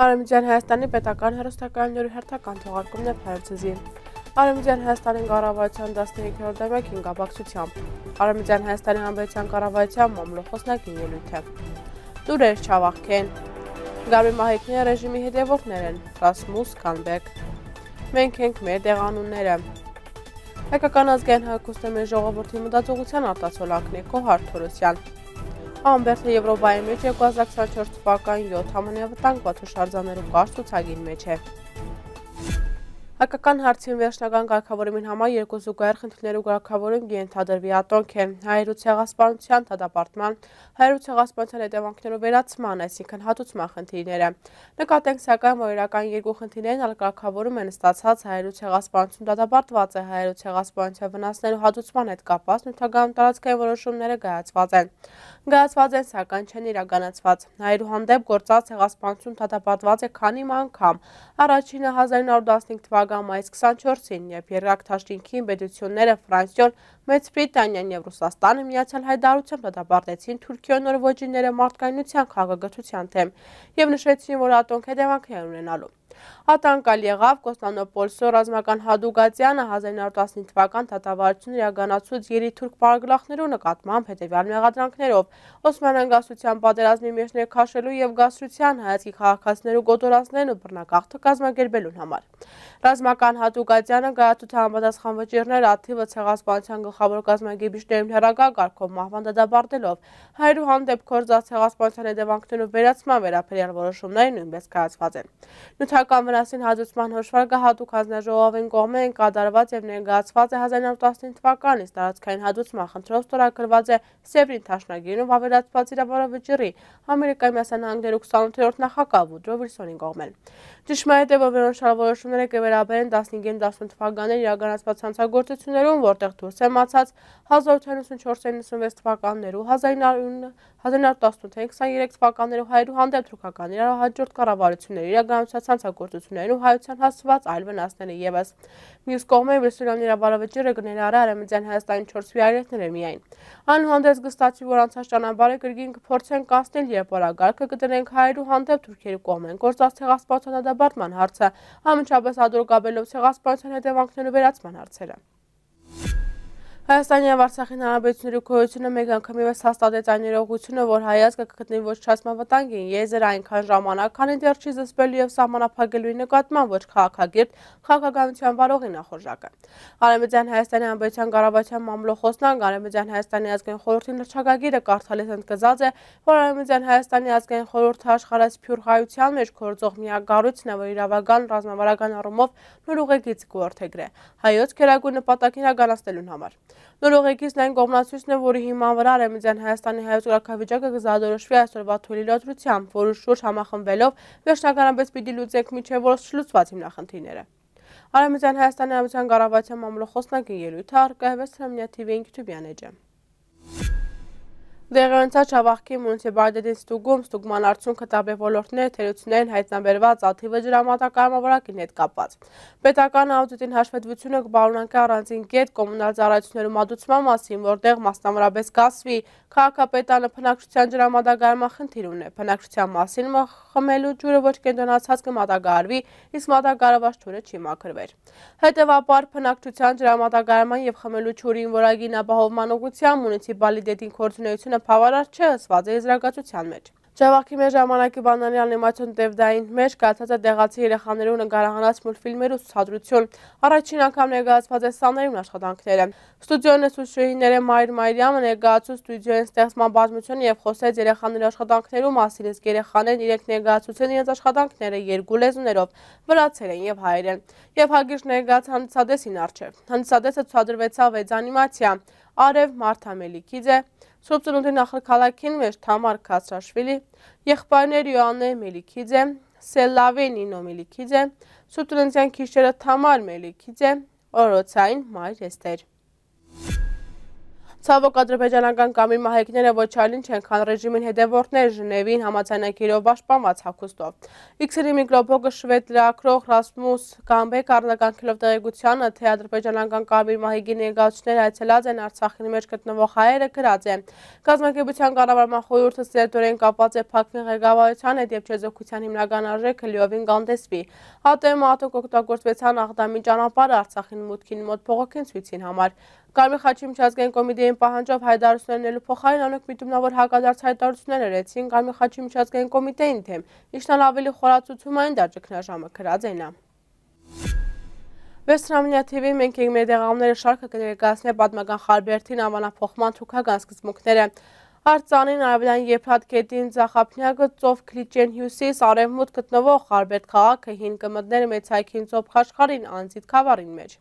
Արևմտյան Հայաստանի պետական հեռուստակայանների հերթական թողարկումն է Փարեզի։ Արևմտյան Հայաստանի կառավարության 15-րդ դեմքին կապակցությամբ։ Արևմտյան Հայաստանի Հանրապետության կառավարության մամլոխոսնակին ելույթ է։ Տուրեր չավախքեն։ Գարմիր Մահիկների ռեժիմի հետևորդներ են Ռասմուս Կանբեկ։ Մենք ենք մեր տեղանունները։ Հայկական ազգային հակոստեմի ժողովրդի մտածողության արտացոլանքն է Կոհար Թորոսյան։ Ամբերտը Եվրոպայի մեջ 2024 թվականի 7 ամենավտանգված հուշարձաններու կարճ ցուցակին մեջ է։ Հայկական հարցին վերջնական կարգավորումին համար երկու զուգահեռ խնդիրներու կարգավորում ենթադրվի ատոնք է հայերու ցեղասպանության դատապարտման, հայերու ցեղասպանության հետևանքներու վերացման, այսինքն հատուցման խնդիրները։ Նկատենք սակայն, որ իրական երկու խնդիրներն ալ կարգավորում են ստացած հայերու ցեղասպանություն դատապարտված է, հայերու ցեղասպանության վնասներու հատուցման հետ կապված նյութական տարածքային որոշումները կայացված են, սակայն չեն իրականացված։ Հայերու հանդեպ գործած ցեղասպանություն դատապարտված է քանի անգամ։ Առաջինը 1915 թվականի մայիս 24-ին, երբ երկրորդ դաշինքի պետությունները Ֆրանսիոն, Մեծ Բրիտանիան եւ Ռուսաստանը միացյալ հայտարարությամբ դատապարտեցին Թուրքիոյի նորվեջիները մարդկայնության քաղաքացիության թեմ եւ նշեցին, որ ատոնք հետևանքներ ունենալու։ Ատանկալ եղավ Կոստանդնուպոլսի ռազմական Հադուգատյանը 1915 թվական դատավարությունը իրականացուց երի թուրք պարագլախներու նկատմամբ հետևյալ մեղադրանքներով՝ Օսմանյան գասության պատերազմի մեջ ներքաշելու եւ գասության հայացքի քաղաքացիներու գոտորածներն ու բռնագաղթը կազմակերպելուն համար։ Ռազմական Հադուգատյանը գայացութ համապատասխան վճիռներ աթիվը ցեղասպանության գլխավոր կազմակերպիչներուն հեռակա կարգով մահվան դատապարտելով հայերու հանդեպ գործած ցեղասպանության հետևանքներու վերացման վերաբերյալ որոշումները նույնպես կայացված են։ Նյութական վնասին հատուցման հաշվարկը հատուկ հանձնաժողովին կողմեն կատարված եւ ներկայացված է 1915 թվականից տարածքային հատուցման խնդրով ստորագրված է Սևրին Թաշնագիրում ավերածված իրավարո վճիռի Ամերիկայի Միացյալ Նահանգներու 28-րդ նախագահ Վուդրո Վիլսոնի կողմեն։ Ճշմարիտ է, որ վերոնշյալ որոշումները կվերաբերեն 15-18 թվականներին իրականացված հանցագործություններուն, որտեղ դուրս է մացած 1894-96 թվականներու, 1918-23 թվականներու հայերու հանդեպ թուրքական իրարահաջորդ կառավարությունների իրականացած հանցագործություններու հայության հասցված այլ վնասները ևս։ Մյուս կողմեն Վիլսոնյան իրավարո վճիռը կներառի Արևմտյան Հայաստանի 4 վիայրետները միայն։ Այնուհանդերձ կստացվի, որ անցած ճանապարհը կրկին կփորձեն կանցնել, երբ օրագարկը կդնենք հայերու հանդեպ թուրքերու կողմեն գործած ցեղասպանության դատապարտման հարցը, անմիջապես ադրուկաբելով ցեղասպանության հետևանքներու վերացման հարցերը։ Հայաստանի եւ Արցախի հանրապետությունների քորությունը մեկ անգամ եւս հաստատեց այն իրողությունը, որ հայազգը կգտնվի ոչնչացման վտանգին, եզր այնքան ժամանակ, քանի դեռ չի զսպելու եւ սահմանափակելու նկատմամբ ոչ քաղաքագիրտ քաղաքականության վարողի նախորժակը։ Արևմտյան Հայաստանի Հանրապետության կառավարության մամլոխոսնակ Արևմտյան Հայաստանի ազգային խորհրդի նշանակագիրը կարդալիս ընդգծած է, որ Արևմտյան Հայաստանի ազգային խորհուրդը աշխարհասփյուռ հայության մեջ գործող միակ կառույցն է, որ իրավական ռազմավարական առումով նոր ուղեգիծ կօրթեգրե հայոց քերագույն նպատակին իրականացնելուն համար։ Նոր ուղեգիծն այն կողմնացույցն է, որի հիման վրա Արևմտյան Հայաստանի հայոց կարգավիճակը կզադորոշվի այսօրվա թույլի լրացությամբ, որի շուրջ համախմբվելով վերջնականապես պիտի լուծենք մինչև որոշ չլուծված հիմնախնդիրները։ Արևմտյան Հայաստանի Հանրապետության կառավարության մամլոխոսնակի ելույթը արկայվեց Թրամյա TV YouTube-յան էջը։ Դեղերենցած Շավախքի մունիցիպալիտետին ստուգման արդյունքը տարբեր ոլորտներ թերություններին հայտնաբերված աթիվը ջրամատակարարմավորակին հետ կապված։ Պետական աուդիտին հաշվետվությունը կպարունակի առանձին կետ կոմունալ ծառայություններու մատուցման մասին, որտեղ մասնավորապես կասվի քաղաքապետարանը բնակչության ջրամատակարարման խնդիր ունի։ Բնակչության մասին խմելու ջուրը ոչ կենտրոնացած կմատակարարվի, իսկ մատակարարված ջուրը չի մաքրվեր։ Հետևաբար բնակչության ջրամատակարարման եւ խմելու ջուրին որակին ապահովման ուղղությամբ մունիցիպալիտետին գործունեությունը բավարար չէ ըսված է եզրակացության մեջ։ Շավախքի մեր ժամանակի բանալի անիմացիոն տևդային մեջ կայացած է տեղացի երեխաներու նկարահանած մուլտֆիլմերու ցուցադրություն։ Առաջին անգամ ներկայացված է սաներուն աշխատանքները։ Ստուդիոյի ուսուցչուհիները Մայր Մայրյամը ներկայացուց ստուդիոյի ստեղծման պատմությունը եւ խոսեց երեխաների աշխատանքներու մասին, իսկ երեխաներն իրենք ներկայացուցեն իրենց աշխատանքները երկու լեզուներով՝ վրացերեն եւ հայերեն։ Եվ հագիշտ ներկայաց հանդիսադեսին առջև։ Հանդիսադեսը ցուցադրվեցավ 6 անիմացիա՝ Արև Մարթա Մելիքիձե, Սուրբ Ծնունդի նախարարքին մեջ Թամար Քացրաշվիլի, եղբայրներ Յոաննե Մելիքիձե, Սելլավե Նինո Մելիքիձե, Սուրբ Ծննդյան քիչերը Թամար Մելիքիձե, օրոցային Մայր Էստեր։ Ցավոք ադրբեջանական կամի մահիկները ոչ այլ ինչ են, քան ռեժիմին հետևորդներ Ժնևին համաձայնագիրով պաշտպանված հագուստով։ X-րի միկրոբլոգը շվեդ լրագրող Ռասմուս Գամբեկ արձագանքելով տեղեկությանը, թե ադրբեջանական կամի մահիկի ներկայացուցիչները այցելած են Արցախի մեջ գտնվող հայերը, գրած է. Կազմակերպության կառավարման խորհուրդը սերտորեն կապված է Փակվի ղեկավարության հետ եւ չեզոքության հիմնական արժեքը լիովին կանդեսվի։ ԱՏՄ ատոք օգտագործվեցան Աղդամի ճանապարհը Արցախին մուտքին մոտ փողոքին ցույցին համար։ Կարմիր խաչի միջազգային կոմիտեին պահանջով հայտարարություններնելու փոխարեն անոնք միտումնավոր հակադարձ հայտարարություններ արեցին Կարմիր խաչի միջազգային կոմիտեին թեմ, ինչն ավելի խորացուցումային դարճգնաժամը գրած է նա։ Վեստրամինյա TV մենք ենք մեր դեղամները շարքը կներկայացնի պատմական Խարբերդին անվանափոխման թուքական սկզբունքները։ Արցանին արևելյան Եփրատ գետին Ձախափնյակը ծով Քլիչեն հյուսիս արևմուտք գտնվող Խարբերդ քաղաքը հին կմտներ մեծ հայքին ծով Խաչխարին անձիտ քավարին մեջ։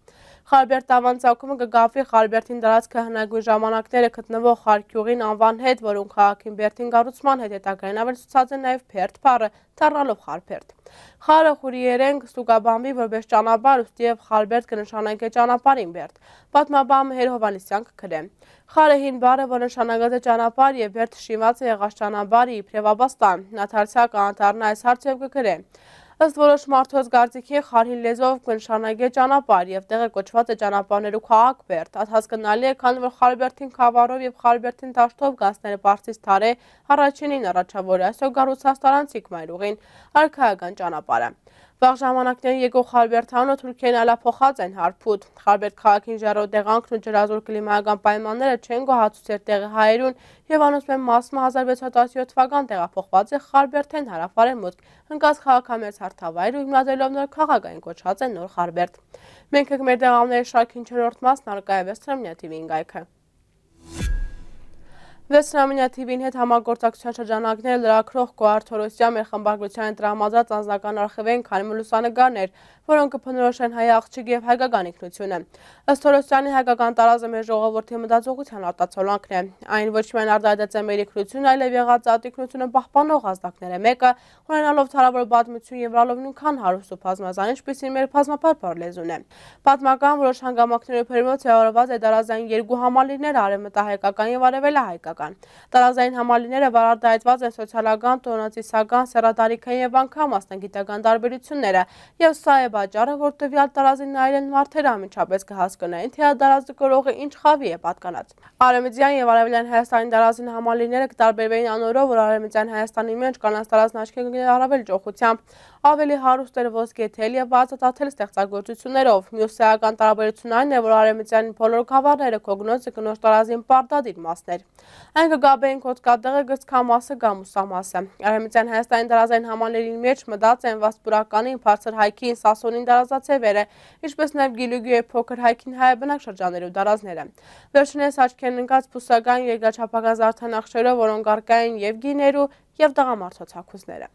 Խարբերդ անվան ծագումը կգավի Խարբերդին դարածքը հնագույն ժամանակները գտնվող Խարքյուղին անվան հետ, որոնք քաղաքին Բերդին կառուցման հետ հետագային ավելացած է նաև Փերդ բառը, դառնալով Խարբերդ։ Խարը խուրիերեն կստուգաբանվի որպես ճանապարհ, ուստի եւ Խարբերդ կնշանակե ճանապարհին Բերդ։ Պատմաբան Մհեր Հովհաննիսյան կգրե։ Խարը հին բառը, որ նշանակած է ճանապարհ եւ Բերդ շինված է եղած ճանապարհի իբրև Աբաստան։ Նա դարձյալ կանթառնա այս հարցը եւ կգրե։ Ըստ որոշ մարդոց կարծիքի խարհին լեզվով կնշանակե ճանապարհ եւ տեղը կոչված է ճանապարհներու քաղաք Բերդ։ Այդ հասկանալի է, քանի որ Խարբերդին քավարով եւ Խարբերդին դաշտով գանցները Պարսից թարե առաջինին առաջավորը այսօր գառուցած տարանցիկ մայրուղին արքայական ճանապարհը։ Վաղ ժամանակներին եկող Խարբերդանը Թուրքիան ալափոխած են հարփուտ։ Խարբերդ քաղաքին ժառո տեղանքն ու ջրազոր կլիմայական պայմանները չեն գոհացուցել տեղի հայերուն եւ անոնցմեն մասը 1617 թվական տեղափոխված է Խարբերդեն հարավարևմուտք, ընկած քաղաքամերձ հարթավայր ու հիմնադրելով նոր քաղաքային կոչված է Նոր Խարբերդ։ Մենք ենք մեր տեղամների շարքին 4-րդ մասն արկա է Վեստրամինյա TV-ին գայքը։ Վեստրամինյա TV-ին հետ համագործակցության շրջանակները լրագրող Գոհար Թորոսյան մեր խմբագրությանը տրամադրած անձնական արխիվային քանի լուսանկարներ, որոնք կփնորոշեն հայ աղջիկ եւ հայկական ինքնությունը։ Ըստ Թորոսյանի հայկական տարազը մեր ժողովրդի մտածողության արտացոլանքն է։ Այն ոչ միայն արտահայտած է մեր ինքնությունը, այլև եղած ատիկնությունը պահպանող ազդակներ է մեկը, ունենալով թարավոր պատմություն եւ լալով նույնքան հարուստ ու բազմազան, ինչպիսին մեր բազմապարփար լեզուն է։ Պատմական որոշ հանգամանքների բերումով ձևավորված է տարազային երկու համալիրներ՝ արևմտահայկական եւ արևելահայկական։ Տարազային համալիրները վարարտահայտված են սոցիալական, տոնացիսական, սեռատարիքային եւ անգամ մասնագիտական տարբերությունները, եւ սա է պատճառը, որ տվյալ տարազին նայելն մարդերը ամենչապես կհասկանային, թե տարազը կրողը ինչ խավի է պատկանած։ Արևմտյան եւ արևելյան Հայաստանի տարազին համալիրները կտարբերվեին անորով, որ արևմտյան Հայաստանի մեջ կանանց տարազն աչքի կգնի առավել ճոխությամբ, ավելի հարուստ էր ոսկեթել եւ բացատրել ստեղծագործություններով։ Մյուս սեական տարբերությունն այն է, որ արևմտյան բոլոր գավառները կոգնոց կնոջ տարազին պարտադիր մասներ։ Այն կգաբեին կոծկատեղը գծքա մասը գամուսամասը։ Արևմտյան Հայաստանի տարազային համալիրի մեջ մտած են վասպուրականին, բարձր հայքին, սասոնին տարազացևերը, ինչպես նաև գիլուգի եւ փոքր հայքին հայաբնակ շրջաններու տարազները։ Վերջինս աչքերն ընկած փուսական երկրաչափական զարդանախշերով, որոնք առկային եւ գիներու եւ տղամարդոց հագուստները։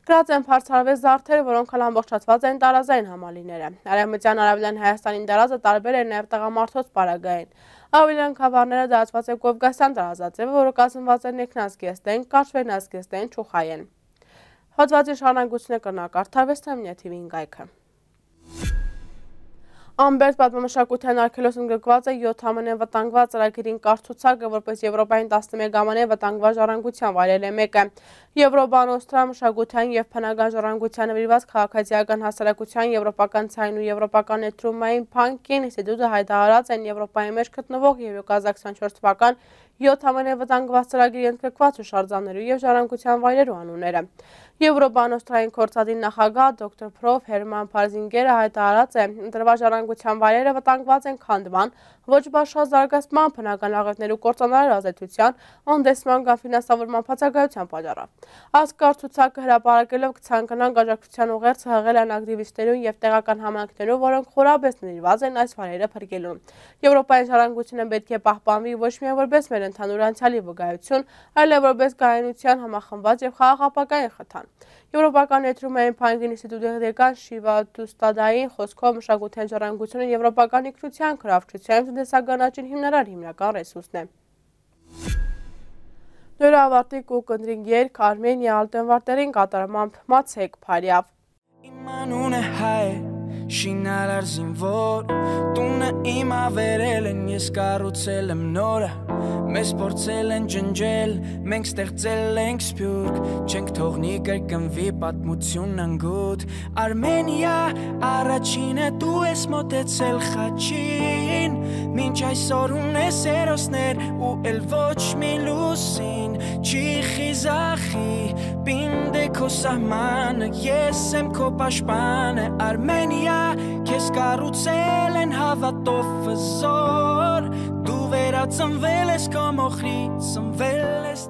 Գրած են բարձրավեզ զարդերը, որոնք ամբողջացված են տարազային համալիրները։ Արևմտյան արևելյան Հայաստանի տարազը տարբեր է նաև տղամարդոց պարագային։ Ավելյան քավառները դարձված է Կովկասյան տարազաձևը, որը կազմված է ներքնազգեստեն, կարճվերնազգեստեն, չուխայեն։ Հոդվածի շարունակությունը կրնակարդար Վեստրամինյա TV-ին գայքը։ Ամբերտ պատմամշակութային արգելոցն գրկված է 7 ամենեն վտանգված ծրագիրին կարծուցակը, որպես Եվրոպային 11 ամենեն վտանգված ժառանգության վայրել է մեկը։ Եվրոպան օստրա մշակութային եւ բնական ժառանգության նվիրված քաղաքացիական հասարակության եվրոպական ցայն ու եվրոպական ներդրումային բանկին ինստիտուտը հայտարարած են Եվրոպայի մեջ գտնվող եւ 2024 թվական 7 ամենեն վտանգված ծրագրի ընդգրկված հուշարձաններու եւ ժառանգության վայրերու անունները։ Եվրոպան օստրային կորցադին նախագահ դոկտոր Պրոֆ Հերման Փարզինգերը հայտարարած է, ընտրված ժառանգության վայրերը վտանգված են քանդման, ոչ բաշխած զարգացման, բնական աղետներու կործանարար ազդեցության, անտեսման կամ ֆինանսավորման բացակայության պատճառով։ Այս կարծուցակը հրապարակելով կցանկանան աջակցության ուղերձը հղել են ակտիվիստներուն եւ տեղական համայնքներուն, որոնք խորաբես նվիրված են այս վայրերը փրկելուն։ Եվրոպայի ժառանգությունը պետք է պահպանվի ոչ միայն որպես մեր ընդհանուր անցյալի վկայություն, այլև որպես կայունության համախմբված եւ խաղաղապահային խթան։ Եվրոպական ներդրումային բանկի ինստիտուտի դեկան Շիվա Դուստադային խոսքով մշակութային ժառանգությունը եվրոպական ինքնության, քրավչության եւ տնտեսականացին հիմնարար հիմնական ռեսուրսն է։ Նոր ավարտի կուկնդրինգ երկ Արմենիա ալտենվարտերին կատարմամբ Մացեք Փարիավ։ Իմ անունը հայ է, շինարար զինվոր, տունը իմ ավերել են, ես կառուցել եմ նորը, Մեզ փորձել են ջնջել, մենք ստեղծել ենք սփյուռք, չենք թողնի կրկնվի պատմությունն անգութ Արմենիա, առաջինը դու ես մոտեցել խաչին Մինչ այսօր ունես հերոսներ ու էլ ոչ մի լուսին Չի խիզախի, պինդ է քո սահմանը, ես եմ քո պաշտպանը Արմենիա, քեզ կառուցել են հավատով հզոր Դու վերածնվել ես քո մոխրից, ծնվել ես